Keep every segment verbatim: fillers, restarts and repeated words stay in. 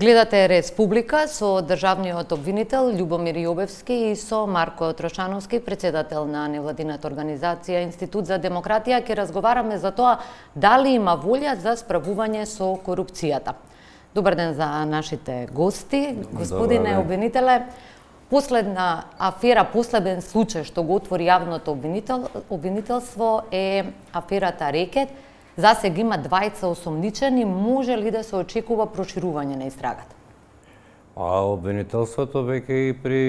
Гледате Республика со државниот обвинител Љубомир Јовевски и со Марко Трошановски, председател на невладината организација Институт за демократија. Ќе разговараме за тоа дали има волја за справување со корупцијата. Добар ден за нашите гости. Господине обвинителе, последна афера, последен случај што го отвори јавното обвинител, обвинителство е аферата Рекет. За сега има двајца осомничени, може ли да се очекува проширување на истрагата? А обвинителството веќе и при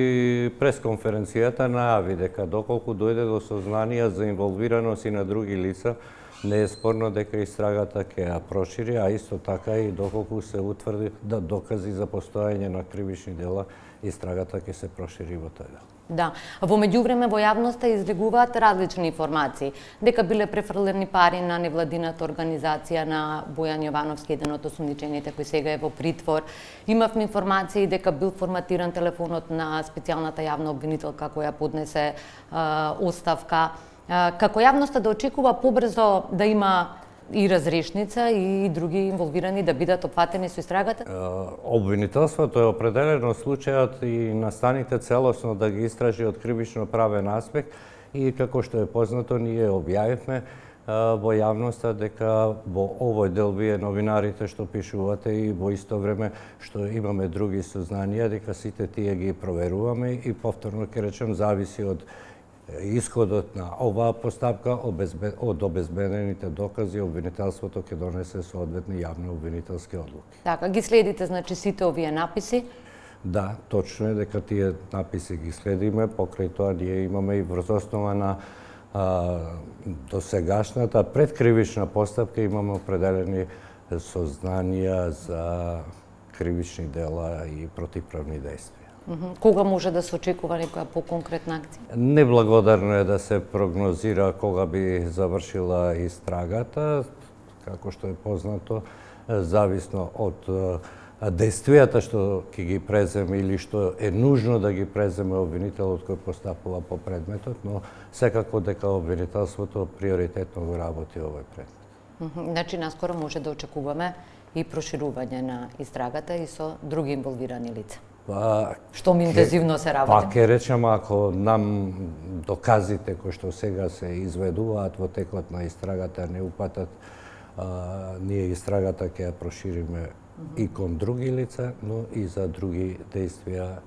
пресконференцијата најави дека доколку дојде до сознанија за инволвираност и на други лица, не е спорно дека истрагата ќе ја прошири, а исто така и доколку се утврди да докази за постојање на кривични дела, истрагата ќе се прошири во тој дел. Да, во меѓувреме во јавноста излегуваат различни информации, дека биле префрлени пари на невладината организација на Бојан Јовановски, еден од осомничените кој сега е во притвор. Имавме информации дека бил форматиран телефонот на специјалната јавна обвинителка која поднесе а, оставка. А, како јавноста да очекува побрзо да има и разрешница и други инволвирани да бидат опфатени со истрагата? Обвинителството е определено случајот и настаните целосно да ги истражи од кривично правен аспект и како што е познато ние објавивме во јавноста дека во овој дел вие новинарите што пишувате и во исто време што имаме други сознанија дека сите тие ги проверуваме и повторно ќе речем зависи од исходот на оваа постапка од обезбедените докази, обвинителството ќе донесе соодветни јавни обвинителски одлуки. Така, ги следите значи сите овие написи? Да, точно е дека тие написи ги следиме, покрај тоа ние имаме и врз основа на а, досегашната предкривична постапка имаме определени сознанија за кривични дела и противправни действија. Кога може да се очекува некоја поконкретна акција? Неблагодарно е да се прогнозира кога би завршила истрагата, како што е познато, зависно од действијата што ќе ги преземе или што е нужно да ги преземе обвинителот кој постапува по предметот, но секако дека обвинителството приоритетно го работи овој предмет. Значи, наскоро може да очекуваме и проширување на истрагата и со други инволвирани лица. Па, што ми интензивно се работи. Па ќе речем, ако нам доказите кои што сега се изведуваат во текот на истрагата не упатат, а, ние истрагата ќе ја прошириме mm -hmm. и кон други лица, но и за други действија,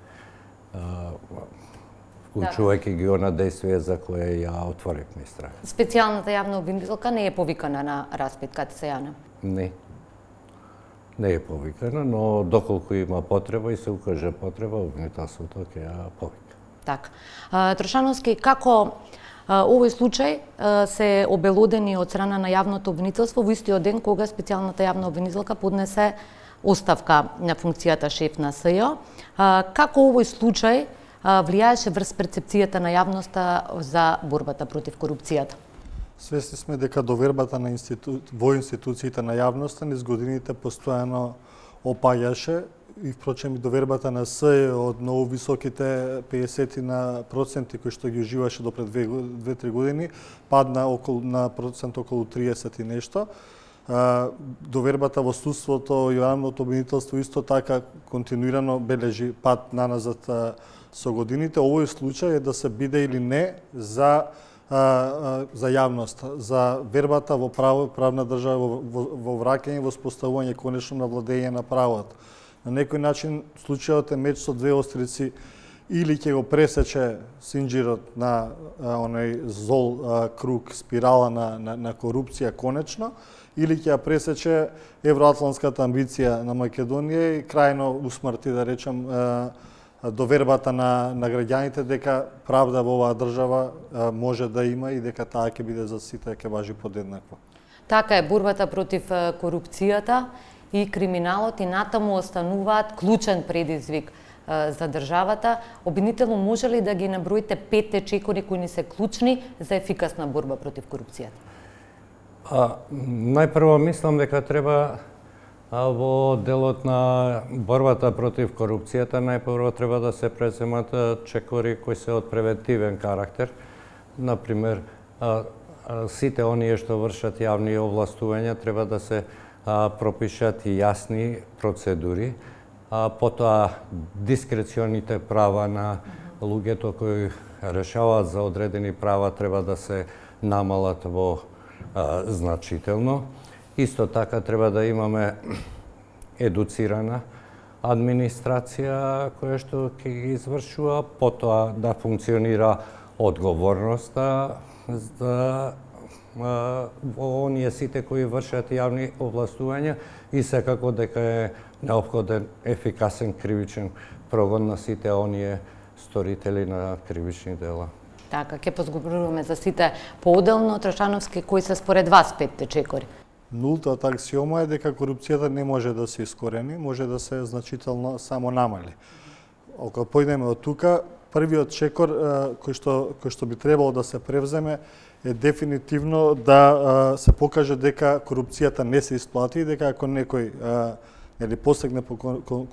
вклучувајќи да. ги она действија за кое ја отворивме истрага. Специјалната јавна обвинителка не е повикана на распит, каде се јана? Не. Не е повикана, но доколку има потреба и се укаже потреба, обвинителството ќе ја повика. Така. Трошановски, како овој случај се обелодени од страна на јавното обвинителство во истиот ден кога специјалната јавна обвинителка поднесе оставка на функцијата шеф на СЈО. Како овој случај влијаеше врз перцепцијата на јавноста за борбата против корупцијата? Свесни сме дека довербата на институ... во институциите на јавноста низ годините постојано опаѓаше и впрочем и довербата на СЈО од многу високите педесет на проценти кои што ги уживаше до пред две-три години падна околу на процент околу триесет и нешто. Довербата во судството и јавното обвинителство исто така континуирано бележи пад наназад со годините. Овој случај е да се биде или не за за јавноста, за вербата во право, правна држава, во, во, во враќање, во споставување конечно на владење на правото. На некој начин случајот е меч со две острици, или ќе го пресече синџирот на а, оној зол а, круг, спирала на, на, на корупција конечно, или ќе ја пресече евроатлантската амбиција на Македонија и крајно усмрти, да речем, а, довербата на, на граѓаните дека правда во оваа држава а, може да има и дека таа ќе биде за сите, ќе важи подеднакво. Така е, борбата против корупцијата и криминалот и натаму остануваат клучен предизвик а, за државата. Обвинително, може ли да ги наброите петте чекори кои ни се клучни за ефикасна борба против корупцијата? А, најпрво мислам дека треба во делот на борбата против корупцијата најпрво треба да се преземат чекори кои се од превентивен карактер. Например, сите оние што вршат јавни овластувања треба да се пропишат и јасни процедури а потоа дискреционите права на луѓето кои решаваат за одредени права треба да се намалат во а, значително. Исто така треба да имаме едуцирана администрација која што ќе ги извршува, потоа да функционира одговорноста за во оние сите кои вршат јавни овластувања и секако дека е неопходен ефикасен кривичен прогон на сите оние сторители на кривични дела. Така, ќе позговоруваме за сите поотделно. Тршановски, кои се според вас петте чекори? Нултата аксиома е дека корупцијата не може да се искорени, може да се значително само намали. Ако појдеме од тука, првиот чекор кој што кој што би требало да се превземе е дефинитивно да се покаже дека корупцијата не се исплати и дека ако некој нели посегне по кон, кон,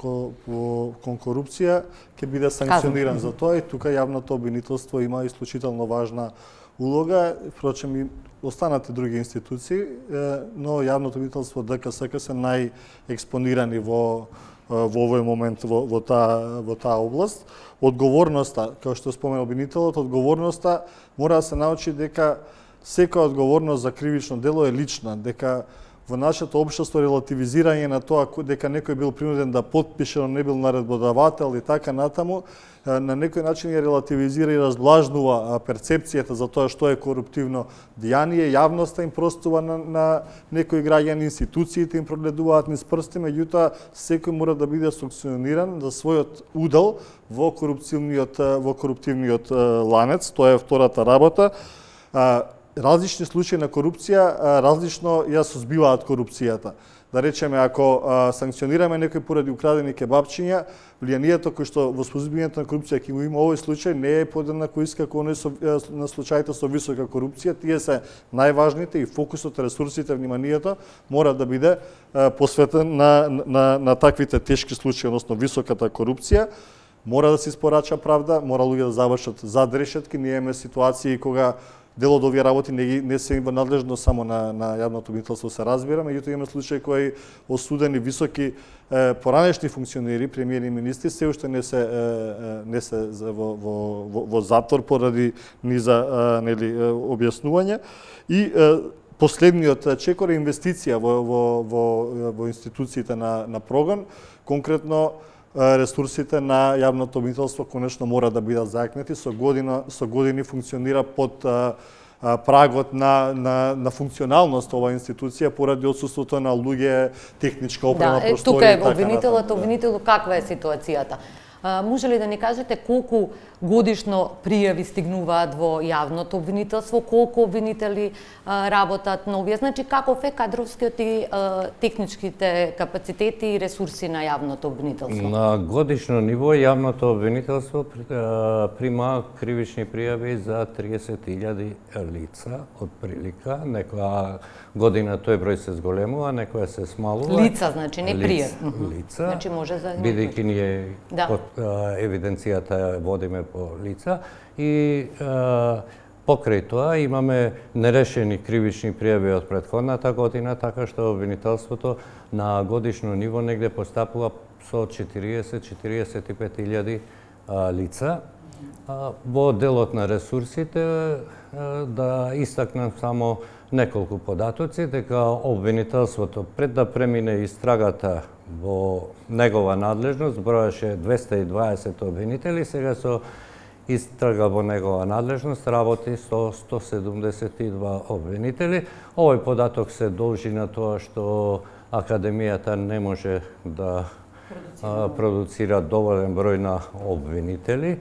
по, кон корупција ќе биде санкциониран за тоа и тука јавното обвинителство има исклучително важна улога, впрочем и останате други институции, но јавното обвинителство ДКСК се најекспонирани во во овој момент во, во таа во таа област. Одговорноста, како што спомена обвинителот, одговорноста мора да се научи дека секоја одговорност за кривично дело е лична, дека во нашето општество релативизирање на тоа дека некој бил принуден да потпише, но не бил наредбодавател и така натаму, на некој начин ја релативизира и разблажнува перцепцијата за тоа што е коруптивно дејание, јавноста им простува на, на некои граѓани, институциите им прогледуваат низ прсти, меѓутоа секој мора да биде санкциониран за својот удел во корупциониот во коруптивниот ланец, тоа е втората работа. Различни случаи на корупција различно ја сузбиваат корупцијата. Да речеме, ако а, санкционираме некој поради украдени кебапчиња, влијанието кој што во сузбивањето на корупција ќе го има овој случај не е подеднако иска како оној со, на случаите со висока корупција. Тие се најважните и фокусот, ресурсите, вниманието мора да биде а, посветен на, на, на таквите тешки случаи, односно високата корупција. Мора да се испорача правда, мора луѓе да завршат зад решетки. Ние имаме ситуации кога дел од овие работи не, не се во надлежност само на, на јавното обвинителство се разбира, меѓутоа има случаи кои осудени високи е, поранешни функционери, премиери и министри, се уште не се е, не се во, во, во, во затвор поради низа е, нели објаснување. И е, последниот чекор е инвестиција во во во, во институциите на на прогон, конкретно ресурсите на јавното обвинителство конечно мора да бидат зајакнати, со година со години функционира под а, а, прагот на на на функционалност ова институција поради отсуството на луѓе, техничка опрема, да, простори. Тука е обвинителот, обвинителот каква е ситуацијата? А, може ли да ни кажете колку годишно пријави стигнуваат во јавното обвинителство, колку обвинители а, работат на овие? Значи, каков е кадровскиот и а, техничките капацитети и ресурси на јавното обвинителство? На годишно ниво јавното обвинителство прима кривични пријави за триесет илјади лица, од прилика. Некоја година тој број се зголемува, некоја се смалува. Лица, значи, не пријави. Лица, значи, може за... бидејќи ние да. под евиденцијата водиме по лица и а, покрај тоа имаме нерешени кривични пријави од претходната година, така што обвинителството на годишно ниво негде постапува со четириесет до четириесет и пет илјади лица. А, во делот на ресурсите а, да истакнам само неколку податоци, дека обвинителството пред да премине истрагата во негова надлежност броеше двесте и дваесет обвинители, сега со истрага во негова надлежност работи со сто седумдесет и два обвинители. Овој податок се должи на тоа што Академијата не може да продуцира, продуцира доволен број на обвинители.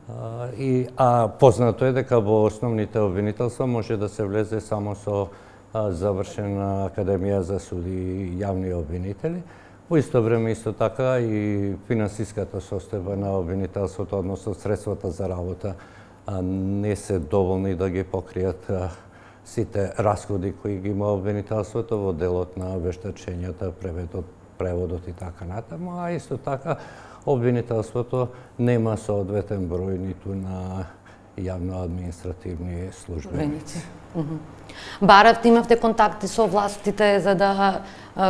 А, и, а познато е дека во основните обвинителства може да се влезе само со а, завршена Академија за суди и јавни обвинители. Во исто време исто така и финансиската состојба на обвинителството, односно средствата за работа, а, не се доволни да ги покријат а, сите расходи кои ги има обвинителството во делот на вештачењата, преводот, преводот и така натаму, а исто така обвинителството нема соодветен број ниту на јавно-административни службеници. Баравте, имавте контакти со властите за да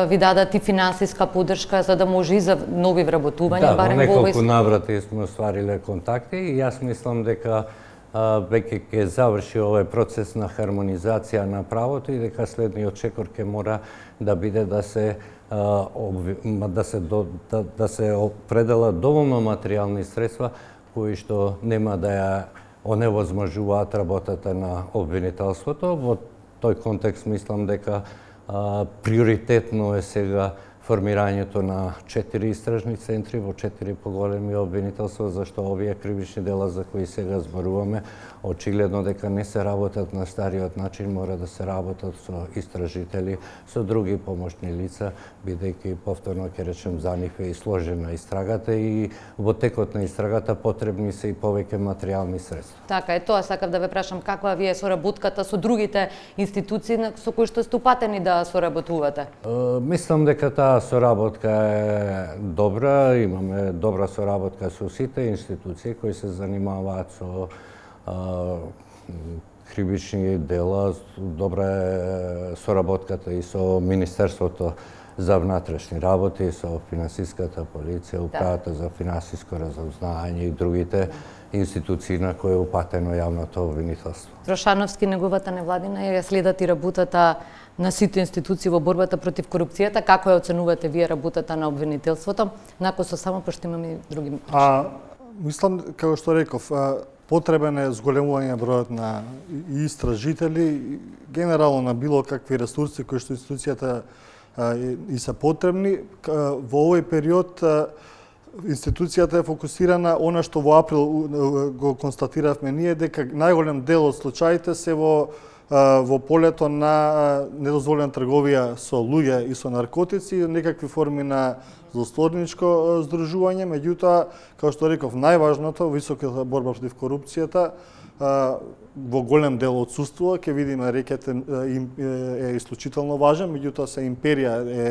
ви дадат и финансиска поддршка за да може и за нови вработувања, да, барем во во овој... неколку наврати сме оствариле контакти и јас мислам дека веќе ќе заврши овој процес на хармонизација на правото и дека следниот чекор ќе мора да биде да се да се да, да се определат доволно материјални средства кои што нема да ја оневозможуваат работата на обвинителството. Во тој контекст мислам дека а, приоритетно е сега формирањето на четири истражни центри во четири поголеми обвинителства, зашто овие кривични дела за кои сега зборуваме, очигледно дека не се работат на стариот начин, мора да се работат со истражители, со други помошни лица, бидејќи повторно ќе речем за нив е и сложена истрагата и во текот на истрагата потребни се и повеќе материјални средства. Така е, тоа сакав да ве прашам каква ви е соработката со другите институции со кои што ступатени да соработувате? Uh, мислам дека таа соработка е добра, имаме добра соработка со сите институции кои се занимаваат со а, кривични дела, добра е соработката и со Министерството за внатрешни работи, со финансиската полиција, управата за финансиско разузнавање и другите институции на кои е упатено јавното обвинителство. Трошановски, неговата невладина, ја следат и работата на сите институции во борбата против корупцијата. Како ја оценувате вие работата на обвинителството? Нако со само, пошто имаме и други... А, мислам, како што реков, потребен е зголемување бројот на истражители, генерално на било какви ресурси кои што институцијата и се потребни. Во овој период институцијата е фокусирана, она што во април го констатиравме ние, дека најголем дел од случаите се во во полето на недозволена трговија со луѓе и со наркотици, некакви форми на злосторничко здружување, меѓутоа, како што реков, најважното, високата борба против корупцијата, во голем дел отсуствува, ќе видиме рекет е исклучително важен, меѓутоа се империја е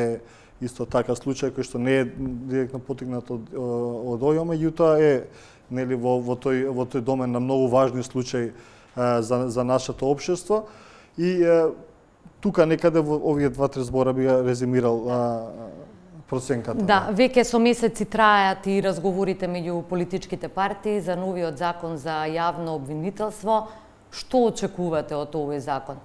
исто така случај кој што не е директно потигнат од, од ОЈО, меѓутоа е нели во во тој во тој домен на многу важни случаи за за нашето општество и тука некаде во овие два-три збора би ја резимирал проценката. Да, веќе со месеци трајат и разговорите меѓу политичките партии за новиот закон за јавно обвинителство. Што очекувате од овој закон?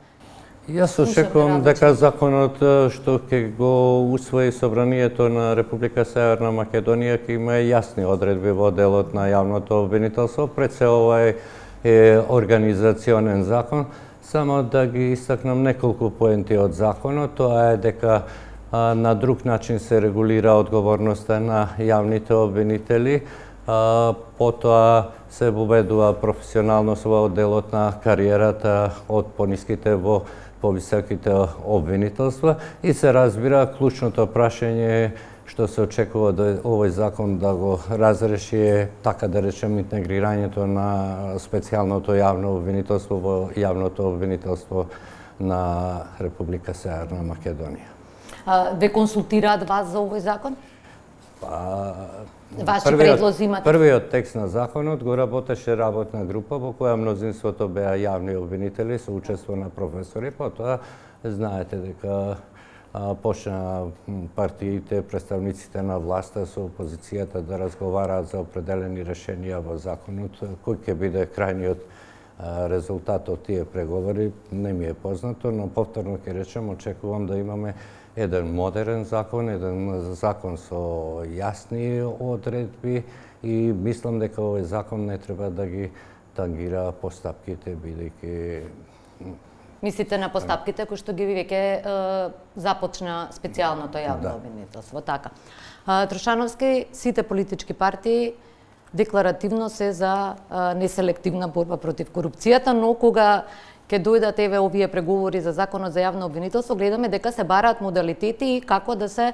Јас очекувам дека законот што ќе го усвои Собранието на Република Северна Македонија ќе има јасни одредби во делот на јавното обвинителство. Пред се овај е организационен закон, само да ги истакнам неколку поенти од законот. Тоа е дека а, на друг начин се регулира одговорноста на јавните обвинители, а, потоа се воведува професионалност во делот на кариерата од пониските во повисоките обвинителства и се разбира клучното прашање што се очекува да овој закон да го разреши е, така да речем, интегрирањето на специјалното јавно обвинителство во јавното обвинителство на Република Северна Македонија. А, ве консултираат вас за овој закон? Па, Ваши предлози имате? Првиот текст на законот го работеше работна група во која мнозинството беа јавни обвинители со учество на професори, потоа знаете дека почна партиите, представниците на власта со опозицијата да разговараат за определени решенија во законот. Кој ќе биде крајниот резултат од тие преговори, не ми е познато, но повторно ќе речем, очекувам да имаме еден модерен закон, еден закон со јасни одредби и мислам дека овој закон не треба да ги тангира постапките, бидејќи Мислите на постапките кои што ги веќе започна специјалното јавно да. обвинителство, така. А, Трошановски, сите политички партии декларативно се за а, неселективна борба против корупцијата, но кога ќе дојдат еве овие преговори за законот за јавно обвинителство, гледаме дека се бараат модалитети и како да се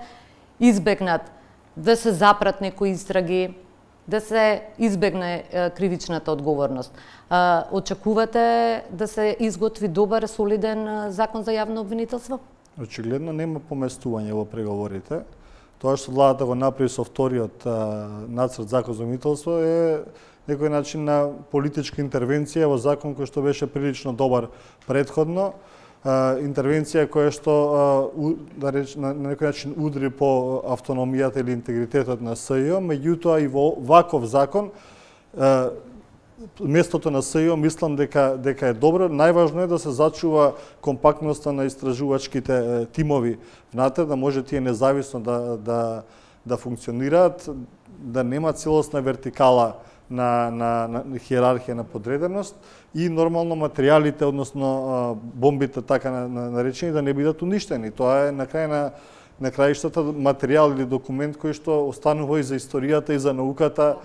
избегнат, да се запрат некои истраги, да се избегне е, кривичната одговорност. А, очекувате да се изготви добар, солиден закон за јавно обвинителство? Очигледно нема поместување во преговорите. Тоа што владата го направи со вториот нацрт закон за обвинителство е некој начин на политичка интервенција во закон кој што беше прилично добар предходно, интервенција која што да реч, на некој начин удри по автономијата или интегритетот на СЈО, меѓутоа и во ваков закон местото на СЈО мислам дека дека е добро. Најважно е да се зачува компактноста на истражувачките тимови внатре, да може тие независно да да да функционираат, да нема целосна вертикала на на на хиерархија на подреденост и нормално материјалите, односно бомбите така наречени, да не бидат уништени. Тоа е на крај на на краиштата материјал или документ кој што останува и за историјата и за науката,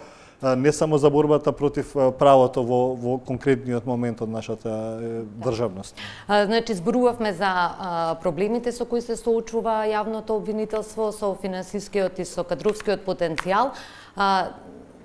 не само за борбата против правото во, во конкретниот момент од нашата државност. А, значи, зборувавме за а, проблемите со кои се соочува јавното обвинителство, со финансискиот и со кадровскиот потенцијал. А,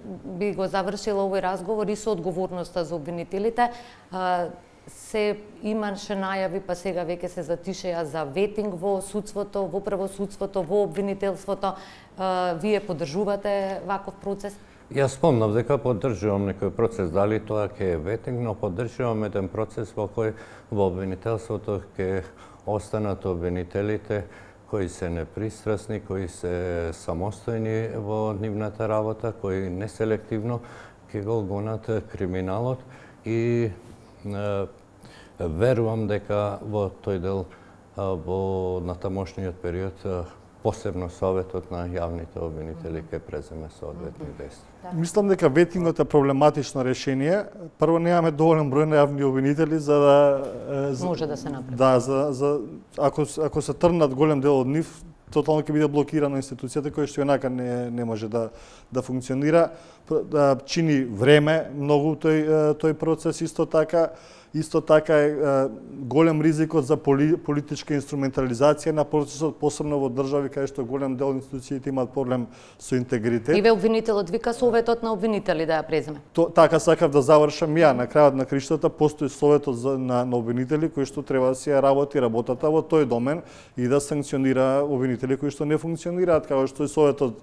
би го завршила овој разговор и со одговорноста за обвинителите. А, се имаше најави, па сега веќе се затишеа за ветинг во судството, во правосудството, во обвинителството. А, вие поддржувате ваков процес? Јас спомнав дека поддржувам некој процес, дали тоа ќе е ветинг, но поддржувам еден процес во кој во обвинителството ќе останат обвинителите кои се непристрасни, кои се самостојни во нивната работа, кои неселективно ќе го гонат криминалот и е, верувам дека во тој дел во натамошниот период посебно Советот на јавните обвинители ќе преземе соодветни действија. Мислам дека ветингот е проблематично решение. Прво, немаме доволен број на јавни обвинители за да може да се направи. Да, за за ако ако се трнат голем дел од нив, тотално ќе биде блокирана институцијата која што онака не не може да да функционира. Да чини време многу тој тој процес исто така. Исто така е голем ризикот за поли, политичка инструментализација на процесот, посебно во држави каде што голем дел институциите имаат проблем со интегритет. И ве обвинителот вика Советот на обвинители да ја преземе. То, така сакав да завршам ја. На крајот на криштата постои Советот за, на, на обвинители кој што треба да си ја работи работата во тој домен и да санкционира обвинители кои што не функционираат, како што и Советот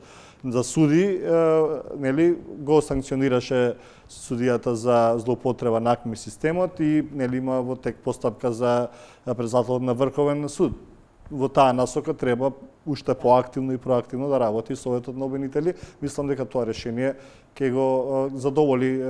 за суди, нели, го санкционираше судијата за злоупотреба на АКМИ системот и нели има во тек постапка за председател на Врховен суд. Во таа насока треба уште поактивно и проактивно да работи Советот на обвинители. Мислам дека тоа решение ќе го задоволи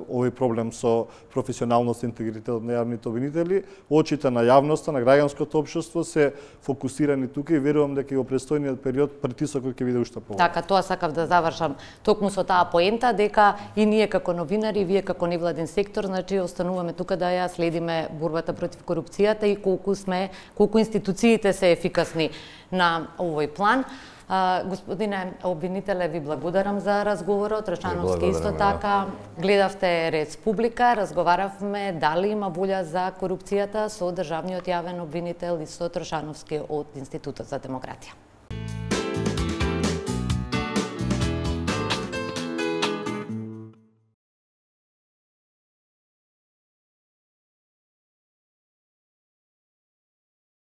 овој проблем со професионалност и интегритет на јавните обвинители. Очите на јавноста, на граѓанското општество се фокусирани тука и верувам дека и во престојниот период притисокот ќе биде уште поголем. Така, тоа сакав да завршам токму со таа поента, дека и ние како новинари, вие како невладин сектор, значи остануваме тука да ја следиме борбата против корупцијата и колку сме, колку институциите се ефикасни на овој план. А, господине обвинителе, ви благодарам за разговорот. Рачановски исто така. Гледавте Республика, разговаравме дали има волја за корупцијата со државниот јавен обвинител Исто Трошановски од Институтот за демократија.